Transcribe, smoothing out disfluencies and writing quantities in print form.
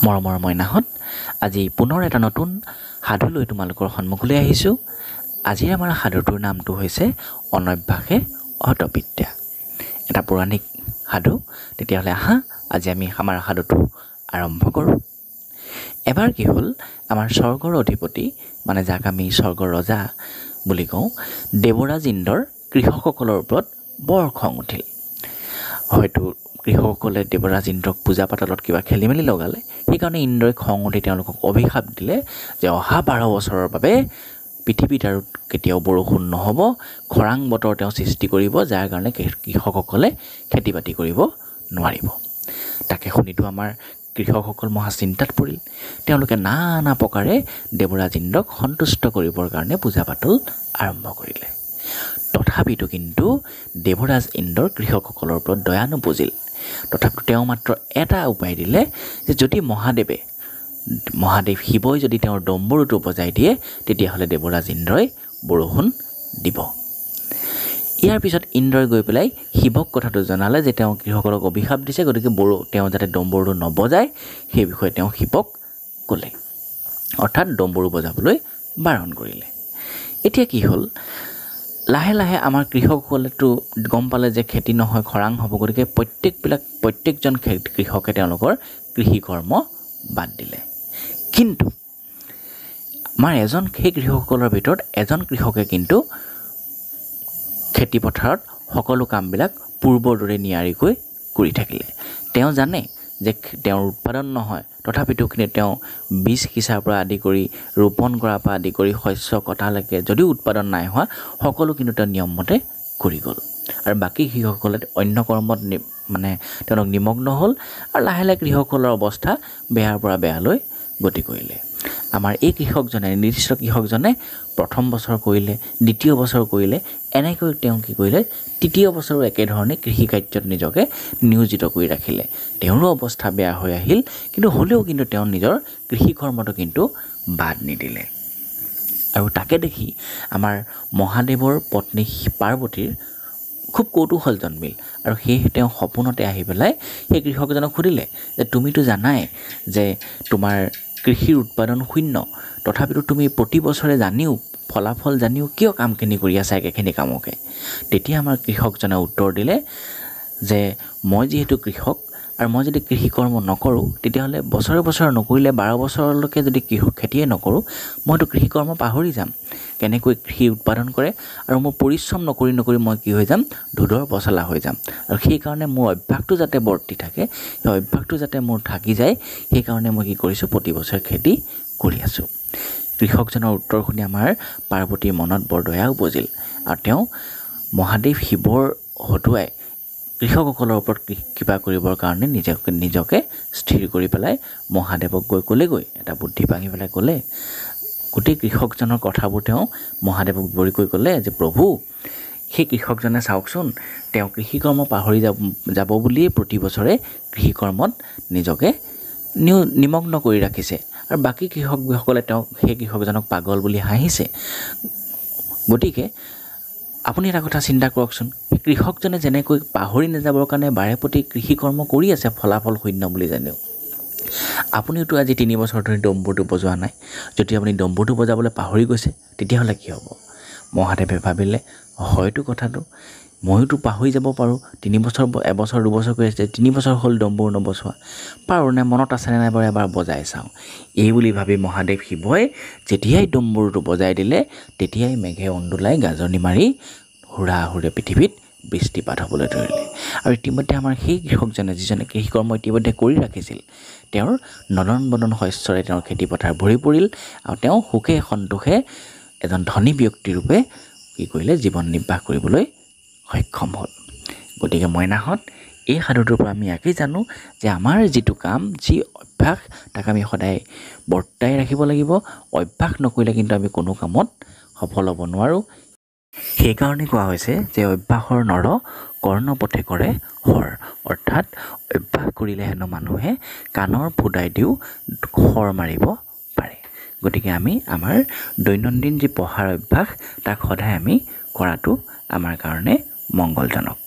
মৰমৰ মইনাহঁত, আজি পুনৰ এটা নতুন সাধু লৈ তোমালোকৰ সন্মুখলৈ আহিছোঁ। আজিৰ আমাৰ সাধুটোৰ নামটো হৈছে অনভ্যাসে হতবিদ্যা, এটা পৌৰাণিক সাধু। তেতিয়াহ'লে আহা, আজি আমি আমাৰ সাধুটো আৰম্ভ কৰোঁ। এবাৰ কি হ'ল, আমাৰ স্বৰ্গৰ অধিপতি, মানে যাক আমি স্বৰ্গৰ ৰজা বুলি কওঁ, দেৱৰাজ ইন্দ্ৰৰ কৃষকসকলৰ ওপৰত বৰ খং উঠিল। হয়তো কৃষকসকলে দেৱৰাজ ইন্দ্ৰক পূজা পাতলত কিবা খেলি মেলি লগালে, সেইকাৰণে ইন্দ্ৰই খং উঠি তেওঁলোকক অভিশাপ দিলে যে অহা 12 বছৰৰ বাবে পৃথিৱীত আৰু কেতিয়াও বৰষুণ নহ'ব, খৰাং বতৰ তেওঁ সৃষ্টি কৰিব, যাৰ কাৰণে কৃষকসকলে খেতি বাতি কৰিব নোৱাৰিব। তাকে শুনিতো আমাৰ কৃষকসকল মহা চিন্তাত পৰিল। তেওঁলোকে নানা প্ৰকাৰে দেৱৰাজ ইন্দ্ৰক সন্তুষ্ট কৰিবৰ কাৰণে পূজা পাতল আৰম্ভ কৰিলে। তথাপিতো কিন্তু দেৱৰাজ ইন্দ্ৰৰ কৃষকসকলৰ ওপৰত দয়া নুপুজিল। তথাপিতো তেওঁ মাত্ৰ এটা উপায় দিলে যে যদি মহাদেৱ শিৱই যদি তেওঁৰ ডম্বৰুটো বজাই দিয়ে, তেতিয়াহ'লে দেৱৰাজ ইন্দ্ৰই বৰষুণ দিব। ইয়াৰ পিছত ইন্দ্ৰই গৈ পেলাই শিৱক কথাটো জনালে যে তেওঁ কৃষকসকলক অভিশাপ দিছে, গতিকে তেওঁ যাতে ডম্বৰুটো নবজায় সেই বিষয়ে তেওঁ শিৱক ক'লে, অৰ্থাৎ ডম্বৰু বজাবলৈ বাৰণ কৰিলে। এতিয়া কি হ'ল, লাহে লাহে আমাৰ কৃষকসকলেতো গম পালে যে খেতি নহয়, খৰাং হ'ব, গতিকে প্ৰত্যেকজন কৃষকে তেওঁলোকৰ কৃষিকৰ্ম বাদ দিলে। কিন্তু আমাৰ সেই কৃষকসকলৰ ভিতৰত এজন কৃষকে কিন্তু খেতিপথাৰত সকলো কামবিলাক পূৰ্বৰ দৰে নিয়াৰিকৈ কৰি থাকিলে। তেওঁ জানে যে তেওঁৰ উৎপাদন নহয়, তথাপিতো কিন্তু তেওঁ বীজ সিঁচাৰ পৰা আদি কৰি ৰোপণ কৰাৰ পৰা আদি কৰি শস্য কটালৈকে যদিও উৎপাদন নাই হোৱা, সকলো কিন্তু তেওঁ নিয়মমতে কৰি গ'ল। আৰু বাকী কৃষকসকলে অন্য কৰ্মত মানে তেওঁলোক নিমগ্ন হ'ল আৰু লাহে লাহে কৃষকসকলৰ অৱস্থা বেয়াৰ পৰা বেয়ালৈ গতি কৰিলে। আমাৰ এই কৃষকজনে, নিৰ্দিষ্ট কৃষকজনে প্ৰথম বছৰ কৰিলে, দ্বিতীয় বছৰ কৰিলে, এনেকৈ তেওঁ কি কৰিলে, তৃতীয় বছৰো একেধৰণে কৃষি কাৰ্যত নিজকে নিয়োজিত কৰি ৰাখিলে। তেওঁৰো অৱস্থা বেয়া হৈ আহিল, কিন্তু হ'লেও কিন্তু তেওঁ নিজৰ কৃষি কৰ্মটো কিন্তু বাদ নিদিলে। আৰু তাকে দেখি আমাৰ মহাদেৱৰ পত্নী পাৰ্বতীৰ খুব কৌতূহল জন্মিল আৰু সেয়েহে তেওঁ সপোনতে আহি পেলাই সেই কৃষকজনক সুধিলে যে তুমিতো জানাই যে তোমাৰ কৃষিৰ উৎপাদন শূন্য, তথাপিতো তুমি প্ৰতি বছৰে জানিও, ফলাফল জানিও কিয় কামখিনি কৰি আছা একেখিনি কামকে? তেতিয়া আমাৰ কৃষকজনে উত্তৰ দিলে যে মই যিহেতু কৃষক আৰু মই যদি কৃষিকৰ্ম নকৰোঁ, তেতিয়াহ'লে বছৰে বছৰে নকৰিলে 12 বছৰলৈকে যদি খেতিয়ে নকৰোঁ, মইতো কৃষিকৰ্ম পাহৰি যাম, কেনেকৈ কৃষি উৎপাদন কৰে, আৰু মোৰ পৰিশ্ৰম নকৰি নকৰি মই কি হৈ যাম, ধোদৰ পচলা হৈ যাম। আৰু সেইকাৰণে মোৰ অভ্যাসটো যাতে বৰ্তি থাকে, সেই অভ্যাসটো যাতে মোৰ থাকি যায়, সেইকাৰণে মই কি কৰিছোঁ, প্ৰতি বছৰে খেতি কৰি আছোঁ। কৃষকজনৰ উত্তৰ শুনি আমাৰ পাৰ্বতীৰ মনত বৰ দয়া উপজিল আৰু তেওঁ মহাদেৱ শিৱৰ হতুৱাই কৃষকসকলৰ ওপৰত কৃপা কৰিবৰ কাৰণে নিজকে স্থিৰ কৰি পেলাই মহাদেৱক গৈ ক'লেগৈ, এটা বুদ্ধি ভাঙি পেলাই ক'লে, গোটেই কৃষকজনৰ কথাবোৰ তেওঁ মহাদেৱক বিৱৰি কৈ ক'লে যে প্ৰভু, সেই কৃষকজনে চাওকচোন, তেওঁ কৃষিকৰ্ম পাহৰি যাব বুলিয়েই প্ৰতি বছৰে কৃষিকৰ্মত নিজকে নিমগ্ন কৰি ৰাখিছে আৰু বাকী কৃষকসকলে তেওঁক, সেই কৃষকজনক পাগল বুলি হাঁহিছে। গতিকে আপুনি এটা কথা চিন্তা কৰকচোন, সেই কৃষকজনে যেনেকৈ পাহৰি নাযাবৰ কাৰণে বাৰে প্ৰতি কৃষিকৰ্ম কৰি আছে ফলাফল শূন্য বুলি জানিও, আপুনিওতো আজি 3 বছৰ ধৰি ডম্বৰুটো বজোৱা নাই, যদি আপুনি ডম্বৰুটো বজাবলৈ পাহৰি গৈছে তেতিয়াহ'লে কি হ'ব? মহাদেৱে ভাবিলে, হয়তো কথাটো, ময়োতো পাহৰি যাব পাৰোঁ, 3 বছৰ, এবছৰ দুবছৰ কৰি আছে, 3 বছৰ হ'ল ডম্বৰু নবজোৱা, পাৰোঁ নে মনত আছেনে নাই বাৰু এবাৰ বজাই চাওঁ। এই বুলি ভাবি মহাদেৱ শিৱই যেতিয়াই ডম্বৰুটো বজাই দিলে, তেতিয়াই মেঘে অন্দোলাই গাজনি মাৰি হুৰাহুৰে পৃথিৱীত বৃষ্টিপাত হ'বলৈ ধৰিলে। আৰু ইতিমধ্যে আমাৰ সেই কৃষকজনে, যিজনে কৃষিকৰ্ম ইতিমধ্যে কৰি ৰাখিছিল, তেওঁৰ নদন বদন শস্যৰে তেওঁৰ খেতিপথাৰ ভৰি পৰিল আৰু তেওঁ সুখে সন্তোষে এজন ধনী ব্যক্তিৰূপে কি কৰিলে, জীৱন নিৰ্বাহ কৰিবলৈ সক্ষম হ'ল। গতিকে মইনাহঁত, এই সাধুটোৰ পৰা আমি ইয়াকেই জানো যে আমাৰ যিটো কাম, যি অভ্যাস, তাক আমি সদায় বৰ্তাই ৰাখিব লাগিব। অভ্যাস নকৰিলে কিন্তু আমি কোনো কামত সফল হ'ব নোৱাৰোঁ। সেইকাৰণে কোৱা হৈছে যে অভ্যাসৰ নৰ কৰ্ণপথে কৰে শৰ, অৰ্থাৎ অভ্যাস কৰিলে হেনো মানুহে কাণৰ ফুটাই দিও শৰ মাৰিব পাৰে। গতিকে আমি আমাৰ দৈনন্দিন যি পঢ়াৰ অভ্যাস, তাক সদায় আমি কৰাটো আমাৰ কাৰণে মংগলজনক।